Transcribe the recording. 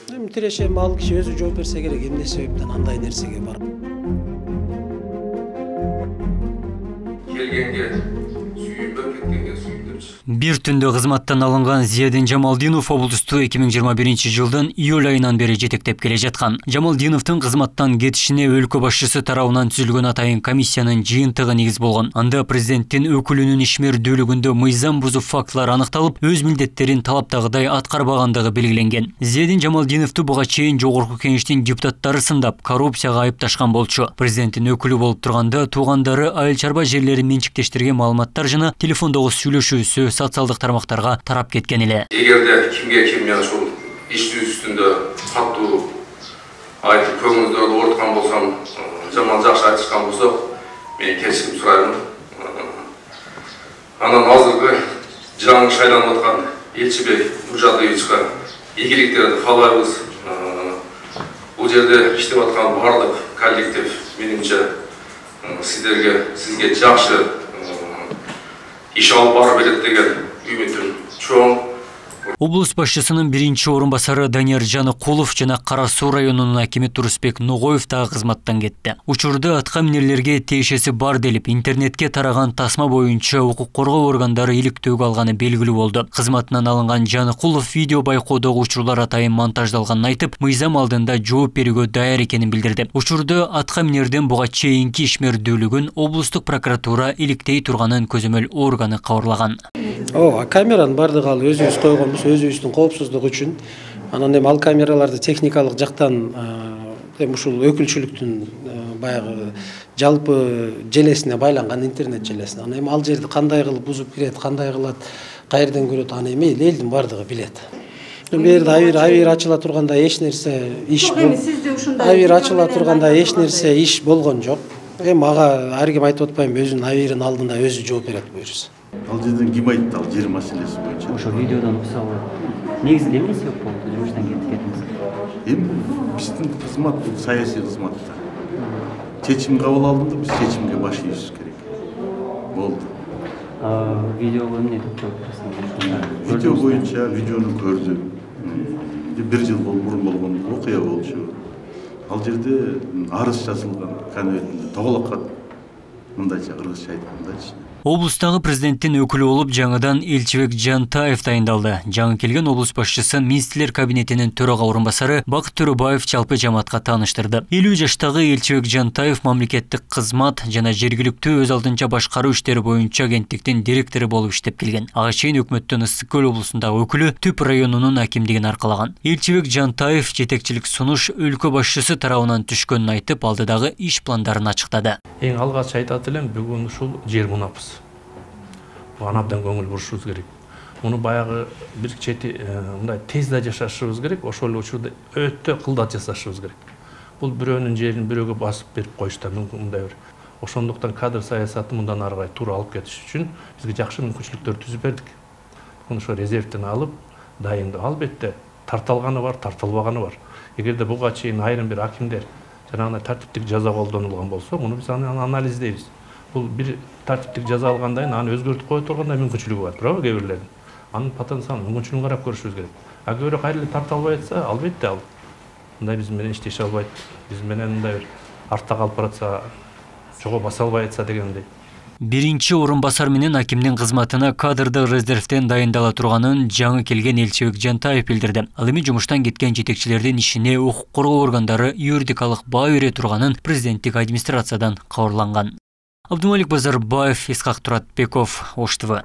Тиреши ал киши өзү жооп берсе керек, эмне себептен андай нерсеге барып. Келгенге сүйүнбөп, кеткенге сүйүндүрчү. Бир түндө кызматтан алынган Зиядин Жамалдинов облусту 2021 жылдын июль айынан бери жетектеп келе жаткан. Жамалдиновдун кызматтан кетишине өлкө башчысы тарабынан түзүлгөн атайын комиссиянын жыйынтыгы негиз болгон. Анда президенттин өкүлүнүн ишмердүүлүгүндө мыйзам бузуп фактылар аныкталып, өз милдеттерин талаптагыдай аткарбагандыгы белгиленген. Зиядин Жамалдиновду буга чейин жогорку кеңештин депутаттары сындап, коррупцияга айыпташкан болчу. Президенттин өкүлү болуп турганда туугандары айыл чарба жерлерин менчиктештирген маалыматтар жана телефондогу сүйлөшүүсү социалдык тармактарга тарап кеткен эле. Эгерде кимге мен ушул иш үстүндө катуу айтып көңүлүңүздөрдү ооруткан болсом, жаман жакшы айтышкан болсок, мен кечирим сурайм. Анан азыркы жаңы шайланып аткан Элчибек Нуржадыевичке ийгиликтерди каалайбыз. Бул жерде иштеп аткан бардык коллектив менимче сизге жакшы иш алып бара берет деген үмүтүм чоң. Облус башчысынын биринчи орун басары Данияр Жаныкулов жана Кара Суу районунун акими Турусбек Ногоев дагы кызматтан кетти. Учурда атка минерлерге тиешеси бар делип, интернетке тараган тасма боюнча укук коргоо органдары иликтөөгө алганы белгилүү болду. Кызматынан алынган Жаныкулов видео байкоодогу учурлар атайын монтаждалганын айтып, мыйзам алдында жооп берүүгө даяр экенин билдирди. Учурда атка минердин буга чейинки ишмердүүлүгүн облустук прокуратура иликтей турганын көзөмөл органы кабарлаган. Камеранын бардыгы ал өзүбүз койгонбуз, өзүбүздүн коопсуздук үчүн. Анан эми ал камераларды техникалык жактан ушул өкүлчүлүктүн баягы жалпы желесине байланган, интернет желесине. Анан эми ал жерди кандай кылып бузуп кирет, кандай кылат, каерден көрөт, аны эми элдин бардыгы билет. Бул жерде авир ачыла турганда эч нерсе иш авир ачыла турганда эч нерсе иш болгон жок. Эми ага ар ким айтып атпайм, өзүнүн авирин алдында өзү жооп берет буюрса. Ал жерден ким айтты ал жер маселеси боюнча? Ошо видеодон укса болот. Негизинде эмне себеп болду жумуштан кеткениңиз? Эми биздин кызмат бул саясий кызмат да. Чечим кабыл алдым да, биз чечимге баш ийишибиз керек. Болду. Видеого эмне деп жооп бересиңиз? Видео боюнча видеону көрдүм. Бир жыл мурун болгон окуя болчу. Ал жерде арыз жазылган, конвертинде тоголок кат. Мындайча кыргызча айткандачы. Облустагы президенттин өкүлү болуп жаңыдан Элчибек Жантаев дайындалды. Жаңы келген облус башчысы министрлер кабинетинин төрага орун басары Бакыт Төрөбаев жалпы жамаатка тааныштырды. 50 жаштагы Элчибек Жантаев мамлекеттик кызмат жана жергиликтүү өз алдынча башкаруу иштери боюнча агенттиктин директору болуп иштеп келген. Ага чейин өкмөттүн Ысык Көл облусундагы өкүлү Түп районунун акимдигин аркалаган. Элчибек Жантаев жетекчилик сунуш өлкө башчысы тарабынан түшкөнүн айтып, алдыдагы иш пландарын ачыктады. Эң алгач айтат элем, бүгүн ушул жер мунапыз. Буга абдан көңүл бурушубуз керек. Муну баягы бир чети мындай тез да жашашыбыз керек, ошол эле учурда өтө кылдат жасашыбыз керек. Бул бирөөнүн жерин бирөөгө басып берип коюштан мүмкүн мындай бир. Ошондуктан кадр саясаты мындан ары карай туура алып кетиш үчүн бизге жакшы мүмкүнчүлүктөр түзүп бердик. Муну ошо резервден алып, дайындоо. Албетте тартылганы бар, тартылбаганы бар. Эгерде буга чейин айрым бир акимдер жанагындай тартиптик жаза колдонулган болсо, муну биз анализдейбиз. Бул бир тартиптик жаза алгандан кийин аны өзгөртүп кое тургандай мүмкүнчүлүгү бар, туурабы кээ бирлердин? Анын потенциалын, мүмкүнчүлүгүн карап көрүшүбүз керек. Бирөө кайра эле тарта албай атса, албетте ал мындай биз менен иштеше албайт. Биз менен мындай бир артта калып баратса, жого баса албай атса дегендей. Биринчи орун басар менен акимдин кызматына кадрдык резервден дайындала турганын жаңы келген Элчибек Жантаев билдирди. Ал эми жумуштан кеткен жетекчилердин ишине укук коргоо органдары юридикалык баа бере турганын президенттик администрациядан кабарланган. Абдумалик Базарбаев, Исхак Туратбеков, Ош ТВ.